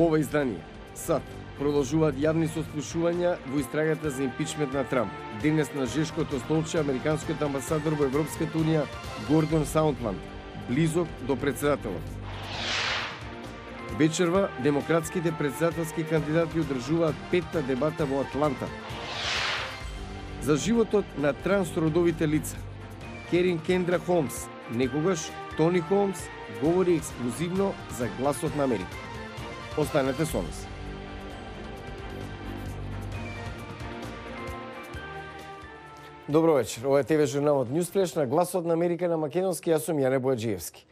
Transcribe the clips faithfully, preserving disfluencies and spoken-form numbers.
Во ова издание, САД продолжуваат јавни сослушувања во истрагата за импичмент на Трамп. Денес на жешкото столче американскиот амбасадор во Европската унија Гордон Саундланд, близок до председателот. Вечерва демократските председателски кандидати одржуваат петта дебата во Атланта. За животот на трансродовите лица, Керин Кендра Холмс, некогаш Тони Холмс, говори ексклузивно за гласот на Америка. Останете со нас. Добро вечер. Ова е ТВ журналот Newsflash на гласот на Америка на македонски. Јас сум Јане Бојаджиевски.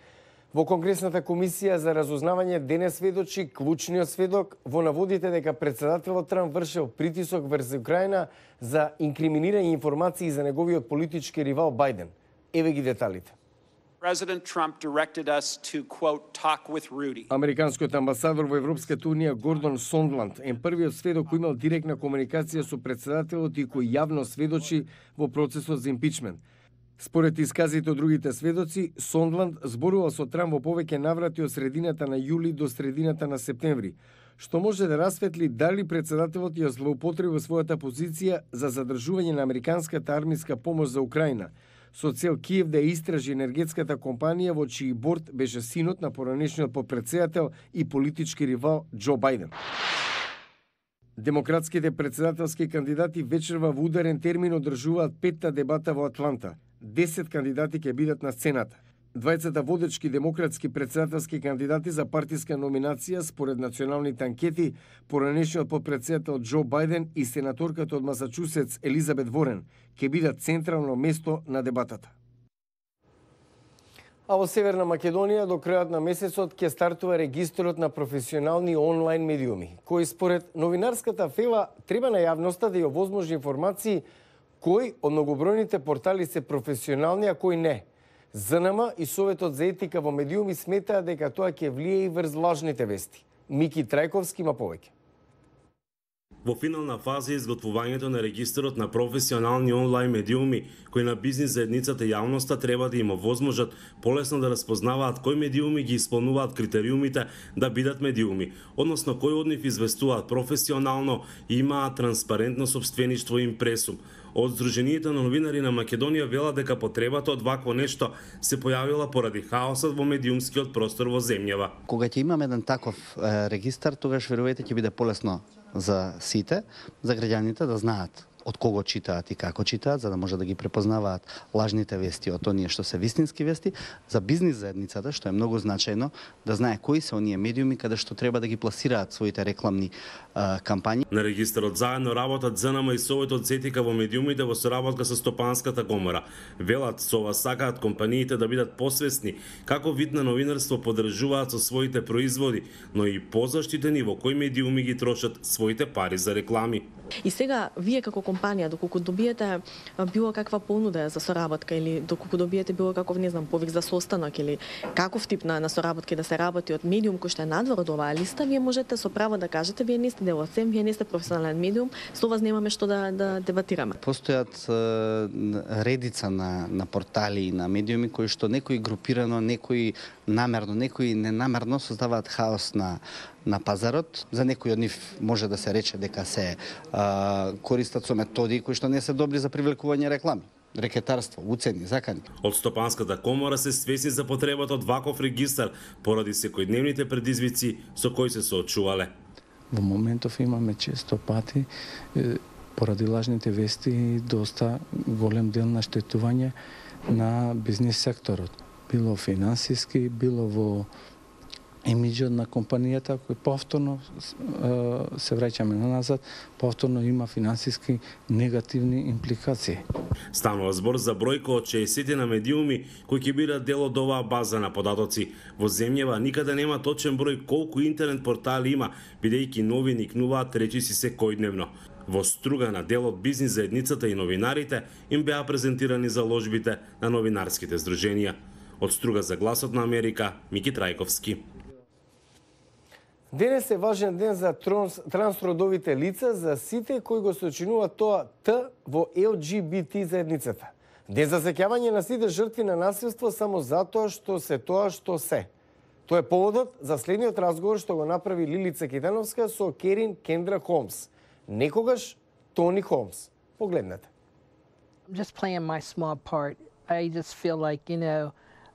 Во Конгресната комисија за разузнавање денес сведочи клучниот сведок во наводите дека председателот Трамп вршел притисок врз Украина за инкриминирање информации за неговиот политички ривал Бајден. Еве ги деталите. President Trump directed us to, quote, talk with Rudy. Американскиот амбасадор во Европската унија Гордон Сондланд е првиот сведок кој имал директна комуникација со председателот и кој јавно сведочи во процесот за импичмент. Според исказите од другите сведоци, Сондланд зборувал со Трамп во повеќе наврати од средината на јули до средината на септември, што може да расветли дали председателот ја злоупотреби својата позиција за задржување на американската армиска помош за Украина, со цел Киев да истражи енергетската компанија во чиј борд беше синот на поранешниот потпредседател и политички ривал Џо Бајден. Демократските председателски кандидати вечерва во ударен термин одржуваат петта дебата во Атланта. Десет кандидати ќе бидат на сцената. Двајцата водечки демократски председателски кандидати за партиска номинација според националните анкети, поранешниот потпредседател Џо Бајден и сенаторката од Масачусетс Елизабет Ворен ќе бидат централно место на дебатата. А во Северна Македонија до крајот на месецот ќе стартува регистрот на професионални онлайн медиуми, кој според новинарската фела треба на јавноста да ја овозможи информации кои од многобројните портали се професионални, а кои не. ЗНМ и Советот за етика во медиуми сметаат дека тоа ќе влие и врз лажните вести. Мики Трајковски има повеќе. Во финална фаза е изготвувањето на регистарот на професионални онлайн медиуми, кои на бизнис заедницата и јавноста треба да им овозможат полесно да распознаваат кои медиуми ги исполнуваат критериумите да бидат медиуми, односно кои од нив известуваат професионално и имаат транспарентно сопствеништво и импресум. Од Сдруженијето на новинари на Македонија велат дека потребата од вакво нешто се појавила поради хаосот во медиумскиот простор во земјава. Кога ќе имаме еден таков е, регистар, тогаш верувајте ќе биде полесно за сите, за граѓаните да знаат од кого читаат и како читаат, за да може да ги препознаваат лажните вести од оние што се вистински вести, за бизнис заедницата, што е многу значајно, да знае кои се оние медиуми каде што треба да ги пласираат своите рекламни а, кампањи. На регистарот заедно работат ЗНМ и Советот за етика во медиумите во соработка со Стопанската комора. Велат со ова сакаат компаниите да бидат посвесни како вид на новинарство поддржуваат со своите производи, но и позаштитени во кои медиуми ги трошат своите пари за реклами. И сега, вие како компанија, доколку добиете било каква понуда за соработка или доколку добиете било каков, не знам, повик за состанок или каков тип на, на соработки да се работи од медиум кој што е надвор од оваа листа, вие можете со право да кажете, вие не сте дел од СЕМ, вие не сте професионален медиум, со вас немаме што да, да дебатираме. Постојат е, редица на, на портали и на медиуми кои што некои групирано, некои намерно, некои ненамерно создаваат хаос на на пазарот. За некои од нив може да се рече дека се а, користат со методи кои што не се добри за привлекување реклами, рекетарство, уцени, закани. Од Стопанската комора се свесни за потребата од ваков регистар поради секојдневните предизвици со кои се соочувале. Во моментов имаме често пати поради лажните вести доста голем дел на штетување на бизнис секторот, било финансиски, било во имиджот на компанијата, кој повторно се враќаме на назад, повторно има финансиски негативни импликации. Станува збор за бројка од шеесет на медиуми кои ќе бидат дел од оваа база на податоци. Во земјава никаде нема точен број колку интернет портали има, бидејќи новини кнуваат речиси секојдневно. Во Струга на дел од бизнис заедницата и новинарите им беа презентирани заложбите на новинарските здруженија. Од Струга за гласот на Америка, Мики Трајковски. Денес е важен ден за транс, трансродовите лица, за сите кои го сочинуваат тоа Т во Ел Џи Би Ти заедницата. Ден за сеќавање на сите жртви на насилство само затоа што се тоа што се. Тоа е поводот за следниот разговор што го направи Лилица Китановска со Керин Кендра Холмс. Некогаш Тони Холмс. Погледнете. Just playing my small part. I just feel like, you know,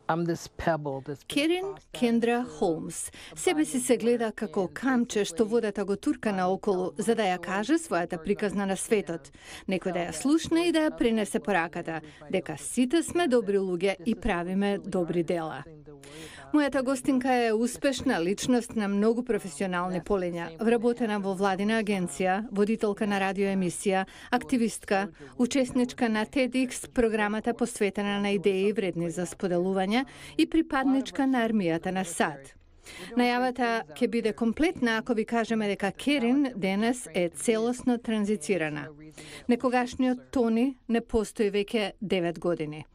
I'm this pebble that's Керин Кендра Холмс себе си се гледа како камче што водата го турка наоколу за да ја каже својата приказна на светот. Некој да ја слушне и да ја пренесе пораката, дека сите сме добри луѓе и правиме добри дела. Мојата гостинка е успешна личност на многу професионални полења, вработена во владина агенција, водителка на радиоемисија, активистка, учесничка на TEDx програмата посветена на идеи вредни за споделување и припадничка на армијата на САД. Најавата ќе биде комплетна ако ви кажеме дека Керин денес е целосно транзицирана. Некогашниот Тони не постои веќе девет години.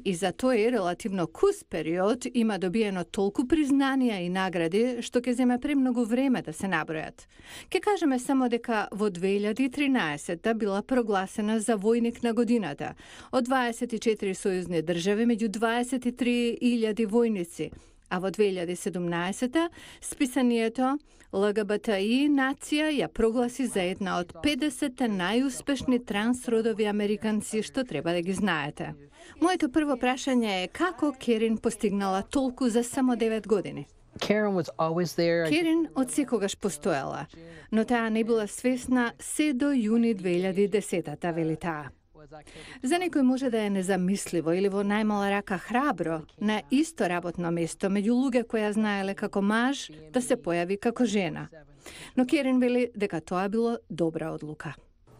И за тој релативно кус период има добиено толку признанија и награди што ќе земе премногу време да се набројат. Ке кажеме само дека во две илјади и тринаесетта била прогласена за војник на годината од дваесет и четири сојузни држави меѓу дваесет и три илјади војници, а во две илјади и седумнаесетта списанието Л Г Б Т И нација ја прогласи за една од педесет најуспешни трансродови американци што треба да ги знаете. Моето прво прашање е како Керин постигнала толку за само девет години? Karen was always there. Керин од секогаш постоела, но таа не била свесна се до јуни две илјади и десетта, вели таа. За некој може да е незамисливо или во најмала рака храбро на исто работно место меѓу луѓе кои ја знаеле како маж да се појави како жена. Но Керин вели дека тоа било добра одлука.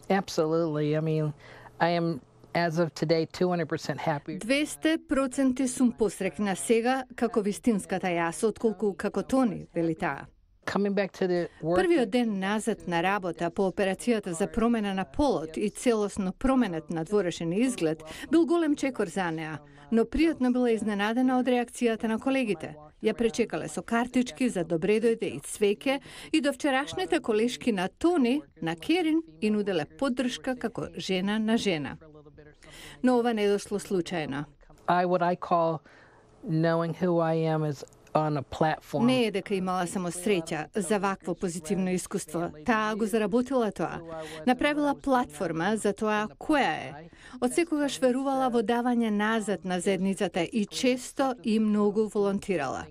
Absolutely. I mean, I am as of today two hundred percent happy. двесте проценти сум посрекна сега како вистинската јас отколку како Тони, вели таа. Coming back to the work. Првиот ден назад на работа по операцијата за промена на полот и целосно променет на дворешен изглед бил голем чекор за неа, но пријатно била изненадена од реакцијата на колегите. Ја пречекале со картички за добре дојде и цвеќе и до вчерашните колешки на Тони, на Керин, и нуделе поддршка како жена на жена. Но ова не дошло случајно. I what I call knowing who I am is on a platform. Не е дека имала само среќа за вакво позитивно искуство. Таа го заработила тоа. Направила платформа за тоа која е. Од секогаш верувала во давање назад на заедницата и често и многу волонтирала.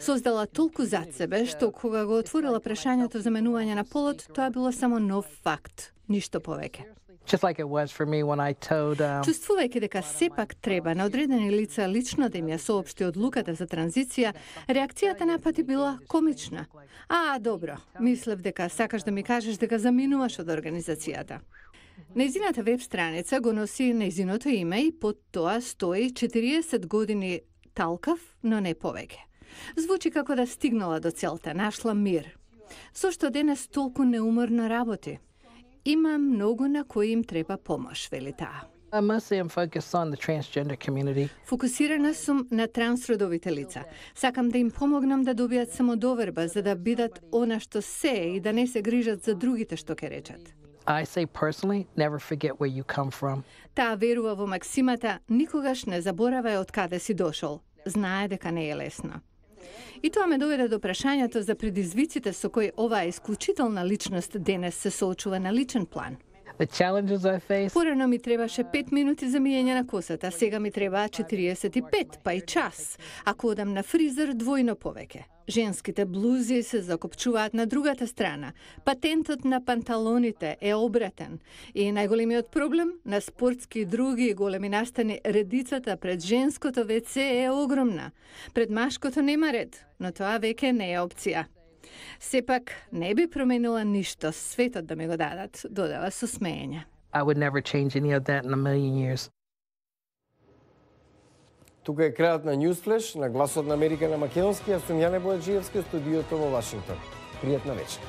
Создала толку зад себе, што кога го отворила прашањето за менување на полот, тоа било само нов факт, ништо повеќе. Just like it was for me when I told um, Чувствувајќи дека сепак треба на одредени лица лично да им ја соопшти одлуката за транзиција, реакцијата напати била комична. А, добро, мислев дека сакаш да ми кажеш дека заминуваш од организацијата. Нејзината веб страница го носи нејзиното име и под тоа стои четириесет години талкав, но не повеќе. Звучи како да стигнала до целта, нашла мир. Зошто денес толку неуморно работи? Има многу на кои им треба помош, вели таа. I mostly am focused on the transgender community. Фокусирана сум на трансродовите лица. Сакам да им помогнам да добијат самодоверба за да бидат она што се и да не се грижат за другите што ќе речат. I say personally, never forget where you come from. Таа верува во максимата никогаш не заборавај од каде си дошол. Знае дека не е лесно. И тоа ме доведе до прашањето за предизвиците со кои оваа исклучителна личност денес се соочува на личен план. The challenges I face. Порано ми требаше пет минути за мијење на косата, сега ми требаа четириесет и пет, па и час. Ако одам на фризер, двојно повеќе. Женските блузи се закопчуваат на другата страна. Патентот на панталоните е обратен. И најголемиот проблем на спортски и други големи настани, редицата пред женското ВЦ е огромна. Пред машкото нема ред, но тоа веќе не е опција. Сепак не би променила ништо светот да ми го дадат, додава со смеење. I would never change any of that in a million years. Тука е крајот на Newsflash на Гласот на Америка на македонски, а сум Јане Бојаджиевски од студиото во Вашингтон. Пријатна вечер.